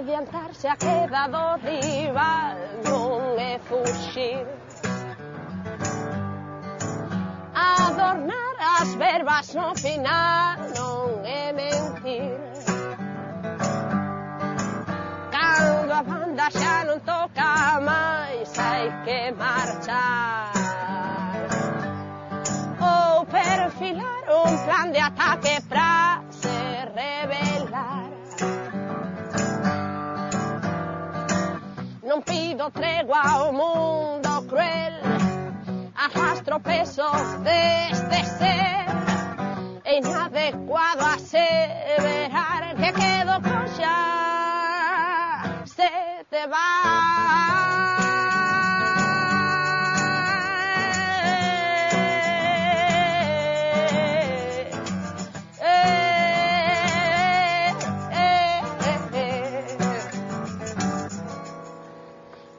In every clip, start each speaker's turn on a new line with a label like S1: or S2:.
S1: Adiantarse a queda do rival non é fuxir. Adornar as verbas no final non é mentir. Cando a banda xa non toca máis hai que marchar ou perfilar un plan de ataque pra se revelar. Non pido tregua ao mundo cruel, arrastro peso deste ser. É inadecuado aseverar que quedo coxa se te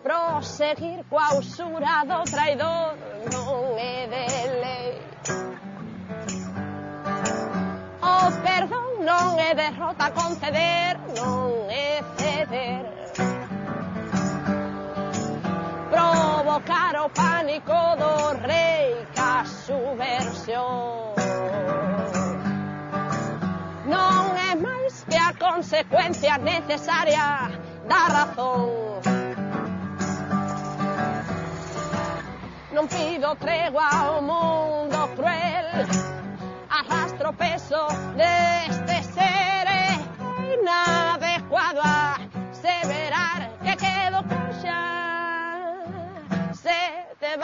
S1: Proseguir coa usura do traidor non é de lei. O perdón non é derrota, conceder non é ceder. Provocar o pánico do rei ca subversión non é máis que a consecuencia necesaria da razón. Non pido tregua ao mundo cruel, arrastro peso deste ser. É inadecuado aseverar que quedo coxa se te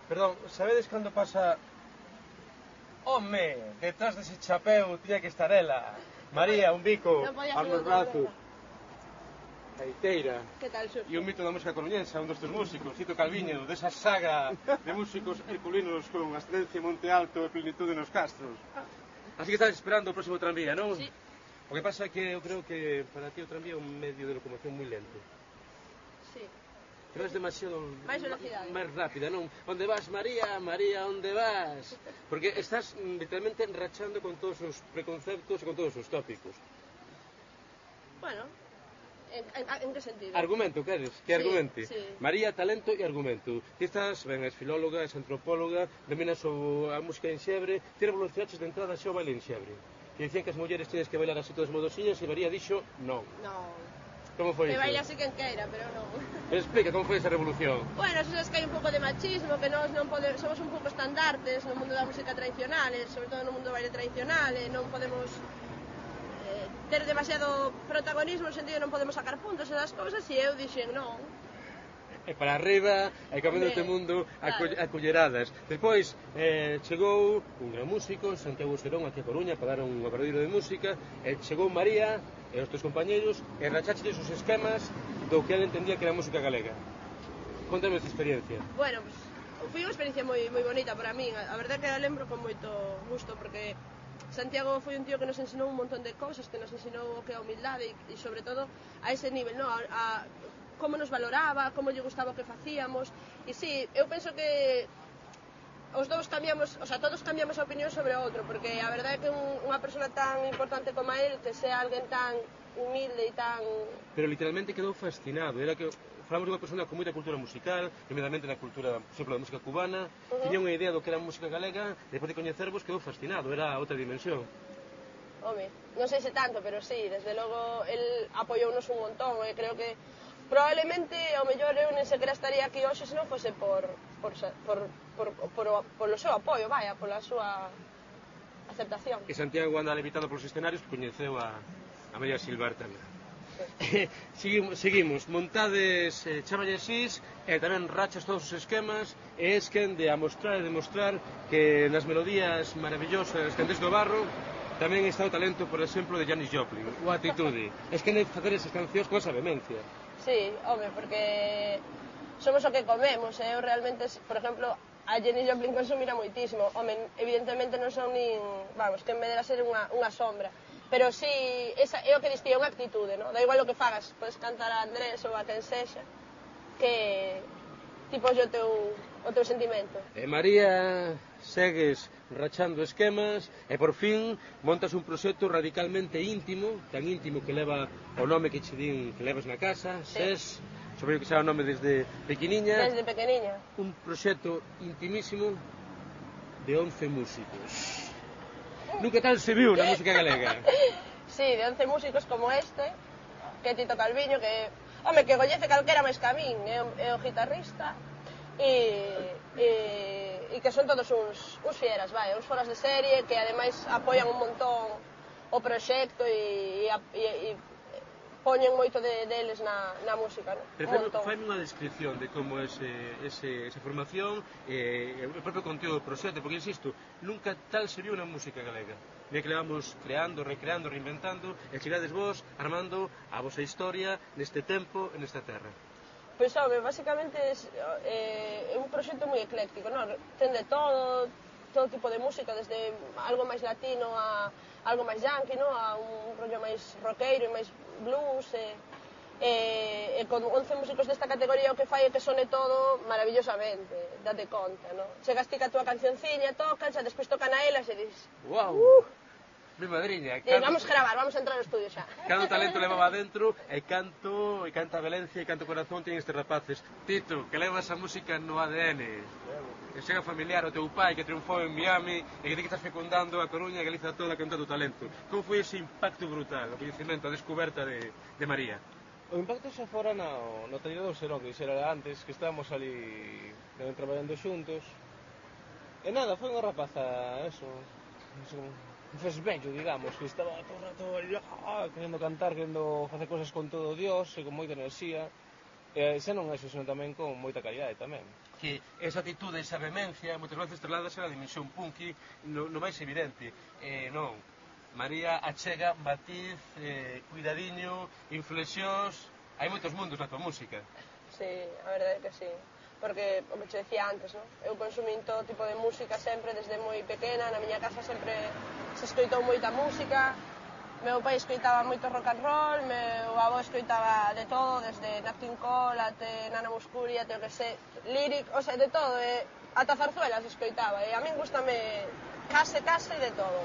S2: Perdón, sabedes cando pasa... Home, detrás dese chapeu tiña que estar ela. María, un bico, armos brazos. Gaiteira.
S1: Que tal, Xurxo?
S2: E un mito da música coruñense, un dos teus músicos, Tito Calviño, desa saga de músicos herculinos con ascendencia Monte Alto e plenitude nos castros. Así que estás esperando o próximo tranvía, non?
S1: Sí.
S2: O que pasa é que eu creo que para ti o tranvía é un medio de locomoción moi lento.
S1: Sí.
S2: Que vas demasiado
S1: máis velocidade,
S2: máis rápida, non? Onde vas, María? María, onde vas? Porque estás literalmente rachando con todos os preconceptos e con todos os tópicos.
S1: Bueno, en que sentido?
S2: Argumento, queres? Que argumente?
S1: Sí.
S2: María, talento e argumento. Ti estás, ben, és filóloga, és antropóloga, dominas a música en xebre, ti revolucionaches de entrada xa o baile en xebre. E dicían que as mulleres tenes que bailar así todas modosiñas e María dixo non.
S1: Non.
S2: Como foi
S1: Que
S2: iso?
S1: baila así quen queira, pero non.
S2: Pero explica, como foi esa revolución?
S1: Bueno, eso es que hai un pouco de machismo, que nós non podemos, somos un pouco estandartes no mundo da música tradicional, sobre todo no mundo do baile tradicional, e non podemos ter demasiado protagonismo, no sentido non podemos sacar puntos e das cousas, e eu dixen non.
S2: E para arriba, e cambiando este mundo a culleradas. Despois chegou un gran músico, Santiago Serón, aquí a Coruña, para dar un aperdido de música, e chegou María e os teus compañeros, e rachaches os esquemas do que ela entendía que era música galega. Contame esta experiencia.
S1: Bueno, pues, foi unha experiencia moi bonita para min. A verdade que a lembro con moito gusto, porque Santiago foi un tío que nos ensinou un montón de cousas, que nos ensinou o que é a humildade e sobre todo a ese nivel, no? A como nos valoraba, como lle gustaba o que facíamos. E sí, eu penso que os dous cambiamos, o sea, todos cambiamos a opinión sobre o outro, porque a verdade é que unha persona tan importante como él, que sea alguén tan humilde e tan...
S2: Pero literalmente quedou fascinado, era que falamos dunha persona con moita cultura musical, primeramente na cultura, por exemplo, da música cubana, tiña unha idea do que era música galega, depois de coñecervos quedou fascinado, era outra dimensión.
S1: Home, non sei se tanto, pero sí, desde logo, el apoiounos un montón, e creo que probablemente, ao mellor, eu nem sequera estaría aquí hoxe se non fose polo seu apoio, vaya, pola súa aceptación.
S2: E Santiago anda levitando polos escenarios que coñeceu a María Silvar tamén. Seguimos, montades chavallesis e tamén rachas todos os esquemas e es quen de amostrar e demostrar que nas melodías maravillosas Candés do Barro tamén está o talento, por exemplo, de Janis Joplin, o actitude. Es que de facer esas cancións con esa vehemencia.
S1: Sí, home, porque somos o que comemos, eu realmente, por exemplo, a Jenny Joplin consumira moitísimo, home, evidentemente non son nin, vamos, que en vez de ser unha sombra, pero sí, esa é o que distía unha actitude, no? Da igual o que fagas, podes cantar a Andrés ou a quen sexa, que tipo o teu sentimento.
S2: María, segues rachando esquemas e por fin montas un proxecto radicalmente íntimo, tan íntimo que leva o nome que che din que levas na casa,
S1: sí.
S2: SES, sobre o que xa o nome desde pequeniña.
S1: Desde pequeniña.
S2: Un proxecto intimísimo de 11 músicos. Nunca tal se viu na música galega.
S1: Sí, de 11 músicos como este, que Tito Calviño, que, home, que gollece calquera máis que a min, é o guitarrista, e que son todos uns fieras, vai, uns foras de serie, que ademais apoian un montón o proxecto e poñen moito deles na música, non?
S2: Pero faime unha descripción de como esa formación e o propio contido do proxecto, porque, insisto, nunca tal se viu na música galega. Mira que levamos creando, recreando, reinventando, e chegades vos armando a vosa historia neste tempo e nesta terra.
S1: Pois, home, basicamente é un proxecto moi ecléctico, non? Ten de todo tipo de música, desde algo máis latino a algo máis yankee, non? A un rollo máis rockero e máis blues, e con 11 músicos desta categoría o que fai é que sone todo maravillosamente, date conta, non? Chegas ti ca túa cancionciña, tocan, xa despois tocan a elas e dis...
S2: Wow! Mi madriña,
S1: vamos gravar, vamos a entrar ao estudio xa.
S2: Canto talento levaba dentro, e canta Valencia, e canto corazón tienen estes rapaces. Tito, que levas a música no ADN. Que chega familiar o teu pai que triunfou en Miami e que ti que estás fecundando a Coruña e Galiza toda cantando talento. Como foi ese impacto brutal, o coñecemento, a descoberta de María?
S3: O impacto xa fora no taller do Serón, que dixera antes, que estábamos ali traballando xuntos. E nada, foi unha rapaza, un fesbello, digamos, que estaba todo o rato querendo cantar, querendo facer cosas con todo Dios e con moita enerxía. E xa non é eso, senón tamén con moita calidade tamén.
S2: Que esa atitude, esa vehemencia, moitas veces trasladas a dimensión punky no máis evidente. Non, María achega, matiz, cuidadiño, inflexións, hai moitos mundos na tua música.
S1: Sí, a verdade é que sí. Porque, como te decía antes, non? Eu consumín todo tipo de música sempre, desde moi pequena, na miña casa sempre se escoitou moita música, meu pai escoitaba moito rock and roll, meu avó escoitaba de todo, desde Nat King Cole até Nana Mouskouri, até o que sei, lyric, o sea, de todo, ata zarzuelas escoitaba, e a min gustame case de todo.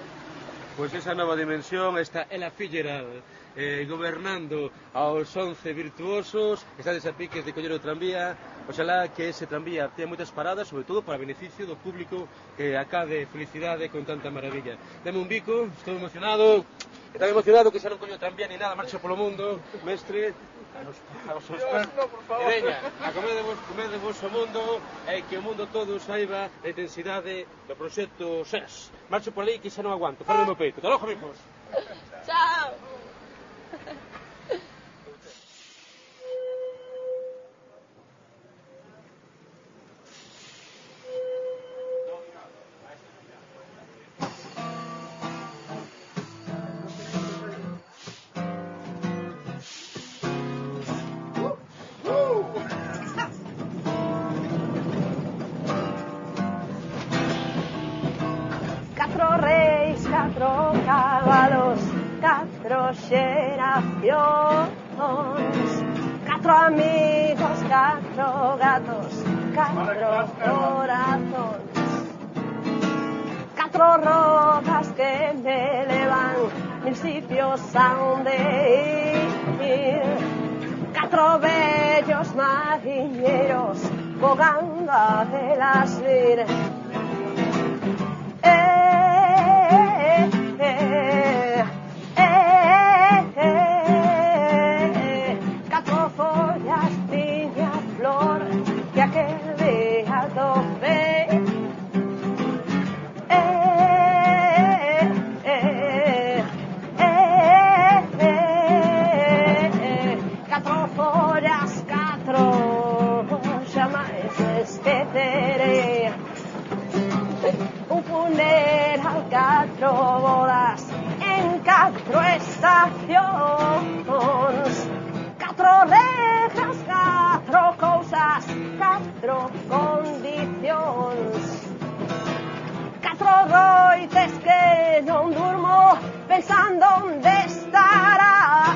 S2: Pois esa nova dimensión está Ela Fitzgerald gobernando aos 11 virtuosos, estades a piques de coller o tranvía, oxalá que ese tranvía tenha moitas paradas, sobre todo para beneficio do público que acabe felicidade con tanta maravilla. Deme un bico, estou emocionado, e tan emocionado que xa non coño tranvía ni nada, marcho polo mundo, mestre, aos seus pés. E veña, a comede vos o mundo, e que o mundo todo saiba a intensidade do proxecto SES. Marcho por aí que xa non aguanto, ferro no peito. Hasta logo, amigos.
S1: Chao!
S4: Catro reis, catro cabalos, catro xeracións, catro amigos, catro gatos, catro corazóns, catro rodas que me levan mil sitios a onde ir, catro bellos mariñeros bogando a velas vir. Catro follas tiña flor que aquel día topei. Catro follas, catro xamais esquecerei. Un funeral, catro bodas en catro estacións, catro rejas non durmo pensando onde estarás.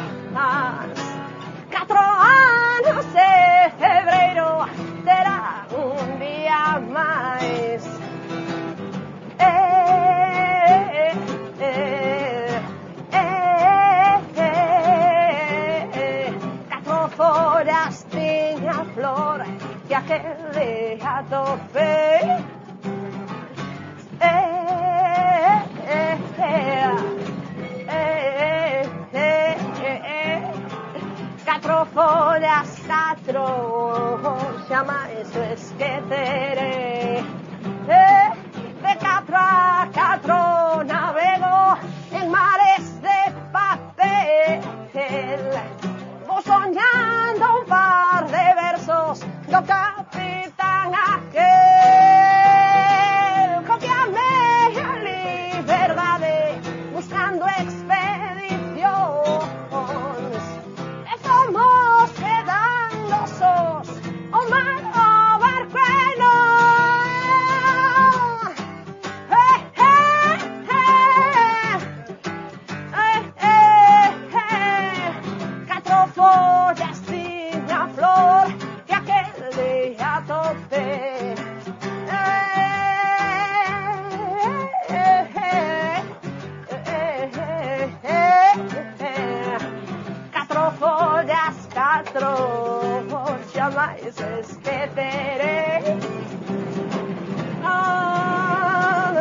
S4: 4 anos e febreiro terá un día máis. 4 follas tiña flor que aquel día topei. 4 follas, 4 xamais o esquecerei. De 4 a 4 navego en mares de papel. Vou soñando un par de versos do capitán aquel. Copiame a liberdade buscando expedicións. E fomos quedando sós o mar, o barco e nós. 4 follas tiña flor que aquel día topei. 4 follas, 4 xamais esquecerei. Oh,